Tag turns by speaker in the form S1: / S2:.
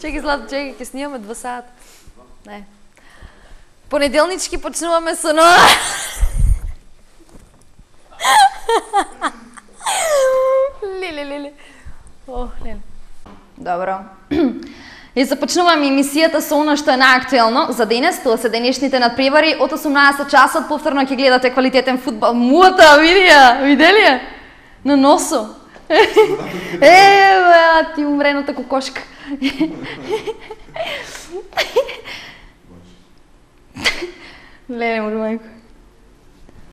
S1: Чекай, Злато, чекай, ќе снимаме 2 сата. Не. Понеделнички почнуваме со нова. Леле. Ох, леле. Добро. И започнуваме емисијата со она што е наактуелно за денес, тоа се денешните надпревари. Од 18 часот повторно ќе гледате квалитетен фудбал. Муата, видели ја? На носо. Ти умрената кокошка. Леле, мајко.